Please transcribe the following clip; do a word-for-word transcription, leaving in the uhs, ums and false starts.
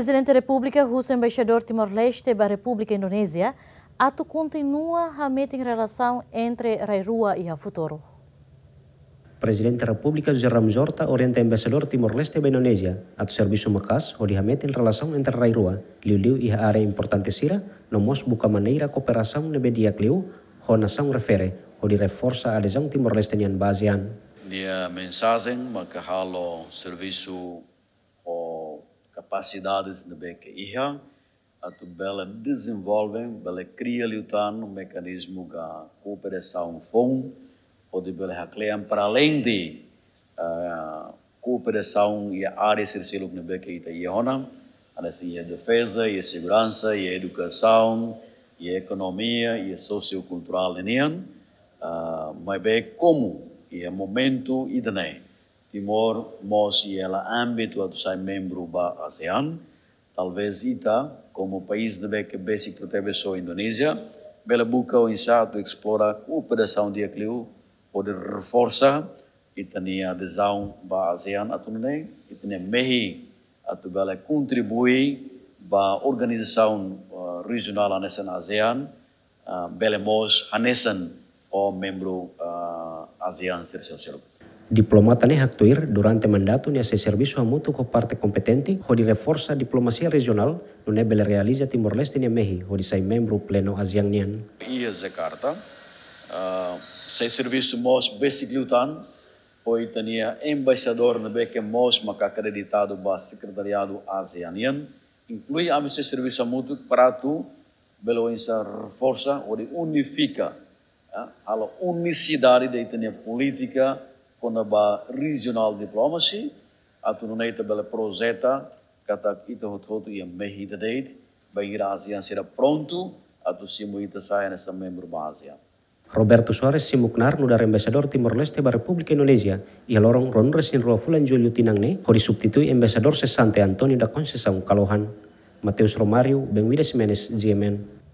Prezidente Repúblika husu Embaixadór Timor-Leste ba Repúblika Indonézia atu kontinua hametin relasaun entre rai rua iha futuru. Prezidente Repúblika José Ramos Horta orienta Embaixadór Timor-Leste ba Indonézia atu servisu maka'as hodi hametin relasaun entre rai rua, liuliu iha área importante sira, no mós buka maneira kooperasaun ne'ebé di'ak liu ho nasaun refere, hodi reforsa adezaun Timor-Leste nian ba ASEAN. Nia mensajen maka halo servisu ho kapasidades ne'ebé ke iha, atu bele dezenvolve, bele kria liután mekanizmu ka kooperasaun foun, hodi bele haklean para além de, ah, kooperasaun iha área sira seluk ne'ebé ke ita iha ona, hanesan iha defeza, iha seguransa, iha edukasaun, iha ekonomia, iha sosiokulturál ninian, ah, maibé komu iha momentu ida-ne'e Timor mós iha hela ámbitu atu sai membru ba ASEAN, talvés ita, komu país ne'ebé ke besik proteve só Indonézia, bele buka oinsá atu esplora kooperasaun di'ak liu, hodi reforsa ita-nia adezaun ba ASEAN atu nune'e, ita-nia mehi atu bele kontribui ba organizasaun, eh, rejionál hanesan ASEAN, ah, bele mós hanesan ho membru, ah, ASEAN sira seluk. Diplomata ne'e haktuir durante mandatu nia sei servisu hamutuk ho parte kompetente hodi reforsa diplomasia rejionál, nune'e bele realiza Timor-Leste nia mehi hodi sai membru plenu ASEAN nian. Iha Jakarta, ah, sei servisu mós besik liután ho ita-nia embaixadór ne'ebé ke mós maka akreditadu ba sekretariadu ASEAN nian, inklui ami sei servisu hamutuk para atu bele oinsá reforsa hodi unifika, ya, halo unisidade ita-nia polítika kona-ba regional diplomacy, atu nune'e ita bele projeta katak ita hotu-hotu iha mehi ida de'it, bainhira ASEAN sira prontu atu simu ita sai hanesan membru ba ASEAN. Roberto Soares simu knaar nu'udar Embaixadór Timor-Leste ba Repúblika Indonézia iha loron ruanulu-resin-rua fulan Jullu tinan ne'e, hodi substitui Embaixadór sesante António da Conceição Kalohan. Mateus Romário, Benvida Ximenes, GMN.